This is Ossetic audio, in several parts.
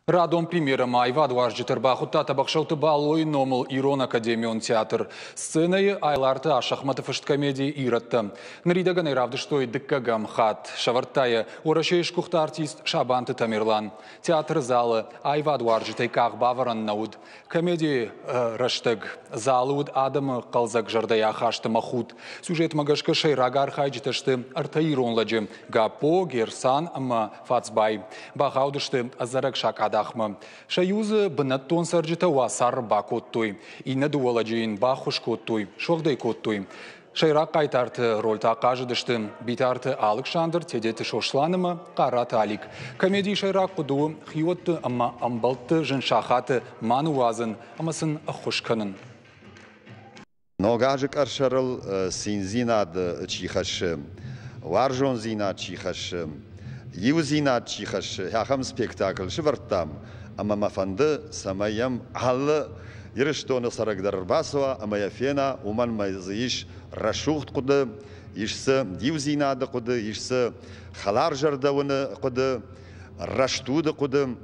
Радон премьерӕмӕ аивадуарзджыты ӕрбахуыдта Тӕбӕхсӕуты Балойы номыл Ирон академион театр. Сценӕйы Айларты Асӕхмӕты фыст комеди «Ирӕттӕ». Ныридӕгӕн ӕй равдыстой дыккӕгӕм хатт. Сӕвӕрдта йӕ Уӕрӕсейы сгуыхт артист Сабанты Тамерлан. Театры залы аивадуарзджытӕй къах бавӕрӕн нӕ уыд. Комедийы рӕстӕг залы уыд адӕмы хъӕлдзӕг зӕрдӕйы ахаст ӕмӕ худт. Сюжетмӕ гӕсгӕ сӕйраг архайджытӕ сты ӕртӕ ирон лӕджы – Гаппо, Герсан ӕмӕ Фацбай. Бахаудысты ӕдзӕрӕг сакъадахмӕ. Сӕ иу дзы бынӕттон цӕрджытӕ уацары бакодтой. Иннӕ дыууӕ лӕджы йын баххуыс кодтой, суӕгъд ӕй кодтой. Сӕйраг хъайтарты рольтӕ ахъазыдысты Битарты Алыксандр, Тедеты Сослан ӕмӕ Хъараты Алик. Комедийы сӕйраг хъуыды у хиуӕтты ӕмӕ ӕмбӕлтты зын сахаты ма ныууадзын ӕмӕ сын ӕххуыс кӕнын. Ног азы къӕсӕрыл циндзинад чи хӕссы, уарзондзинад чи хӕссы, иудзинад чи хӕссы, ахӕм спектакль сывӕрдтам, ӕмӕ мӕ фӕнды, цӕмӕй йӕм алы Ирыстоны цӕрӕг дӕр ӕрбацӕуа ӕмӕ йӕ фена, уымӕн ӕмӕ дзы ис рӕсугъд хъуыды, ис дзы иудзинады хъуыды, ис дзы хӕларзӕрдӕуыны хъуыды, рӕстуды хъуыды.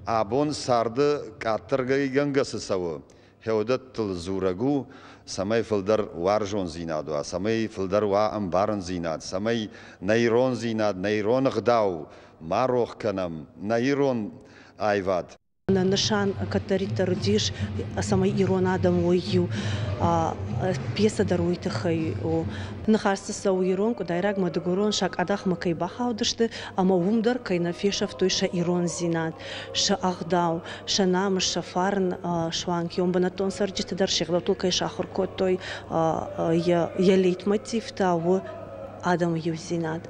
Абон царды къаддӕргӕнгӕ цы цӕуы, хеуыдӕттыл дзурӕг у, цӕмӕй фылдӕр уарзондзинад уа, цӕмӕй фылдӕр уа ӕмбарындзинад, цӕмӕй нӕ ирондзинад, нӕ ирон ӕгъдау ма рох кӕнӕм, нӕ ирон аивад. Нӕ нысан кӕддӕриддӕр уыдис, цӕмӕй ирон адӕм уой иу. Пьесӕ дӕр уый тыххӕй у. Ныхас дзы цӕуы ирон, къуыдайраг ӕмӕ дыгурон сакъадахмӕ кӕй бахаудысты ӕмӕ уым дӕр кӕй нӕ фесӕфтой сӕ ирондзинад, сӕ ӕгъдау, сӕ намыс, сӕ фарн, суанг йон бынӕттон цӕрджыты дӕр се гъдӕуттыл кӕй сахуыр кодтой, йӕ лейтмотив та у адӕмы иудзинад.